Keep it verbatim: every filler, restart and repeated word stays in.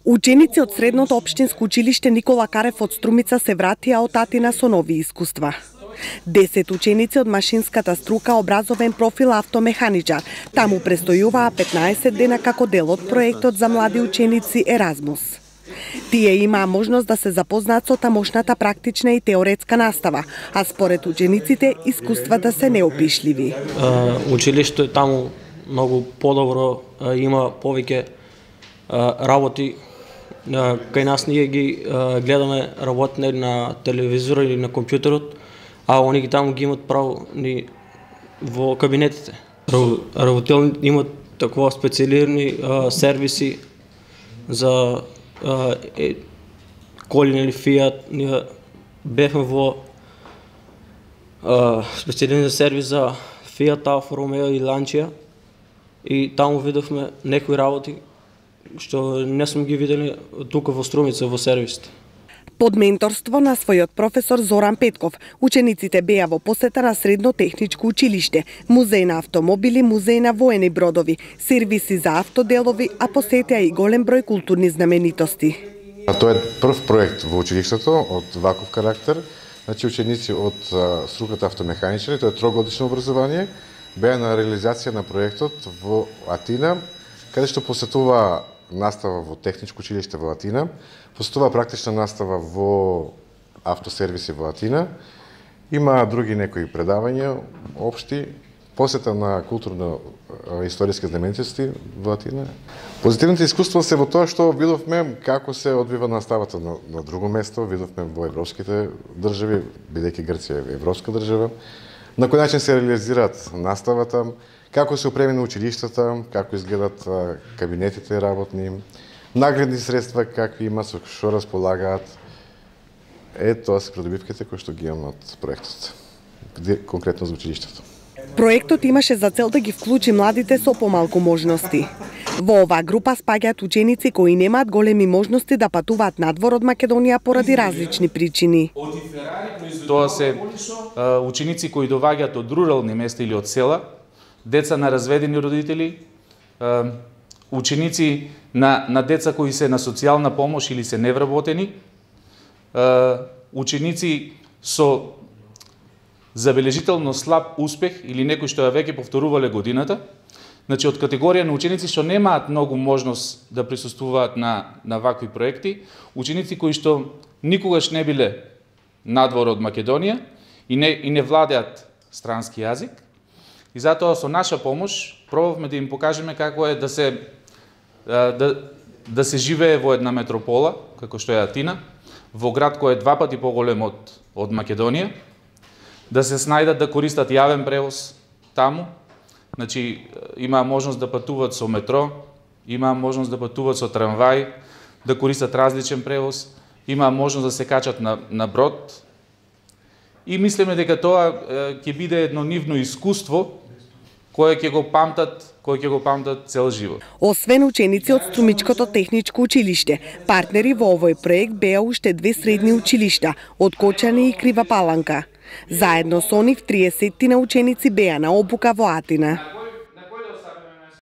Ученици од средното општинско училиште Никола Карев од Струмица се вратија од Атина со нови искуства. Десет ученици од машинската струка образовен профил автомеханичар. Таму престојуваа петнаесет дена како дел од проектот за млади ученици Еразмус. Тие имаа можност да се запознаат со тамошната практична и теоретска настава, а според учениците искуствата се неопишливи. Училиштето таму многу подобро, има повеќе работи. Кај нас ние ги гледаме работне на телевизор или на компјутерот, а они ги таму ги имат право ни во кабинетите. Работелни имат такова специалирани сервиси за е, коли или Фиат. Ние бевме во специалиран сервис за Фиат, Алфа Ромео и Ланчија и таму видовме некои работи што не сме ги видели тука во Струмица во сервисите. Под менторство на својот професор Зоран Петков, учениците беа во посета на Средно техничко училиште, музеј на автомобили, музеј на воени бродови, сервиси за автоделови, а посетеа и голем број културни знаменитости. Тоа е прв проект во училиштето од ваков карактер. Значи ученици од струката автомеханичари, тоа е трогодишно образование, беа на реализација на проектот во Атина, каде што посетува настава во техничко училиште во Атина, посетува практична настава во автосервиси во Атина, има други некои предавања општи, посета на културно-историски знаменитости во Атина. Позитивните искуства се во тоа што видовме како се одвива наставата на, на друго место, видовме во европските држави, бидејќи Грција е европска држава, на кој начин се реализираат наставата, како се опремени училиштата, како изгледат кабинетите работни, наградни средства какви има, со што располагаат. Е, тоа се придобивките кои што ги имаме од проектот, конкретно за училиштето. Проектот имаше за цел да ги вклучи младите со помалку можности. Во оваа група спаѓаат ученици кои немаат големи можности да патуваат надвор од Македонија поради различни причини. Тоа се ученици кои доаѓаат од рурални места или од села, деца на разведени родители, ученици на, на деца кои се на социјална помош или се невработени, ученици со забележително слаб успех или некои што ја веќе повторувале годината, значи од категорија на ученици што немаат многу можност да присуствуваат на, на вакви проекти, ученици кои што никогаш не биле надвор од Македонија и не, и не владеат странски јазик. И затоа со наша помош пробавме да им покажеме како е да се да, да се живее во една метропола, како што е Атина, во град кој е два пати поголем од, од Македонија, да се снајдат да користат јавен превоз таму, значи има можност да патуваат со метро, има можност да патуваат со трамвај, да користат различен превоз, има можност да се качат на, на брод. И мислиме дека тоа ќе биде едно нивно искуство кое ќе го памтат, кој ќе го памтат цел живот. Освен ученици од Струмичкото техничко училиште, партнери во овој проект беа уште две средни училишта, од Кочани и Крива Паланка. Заедно со нив триесет ученици беа на обука во Атина.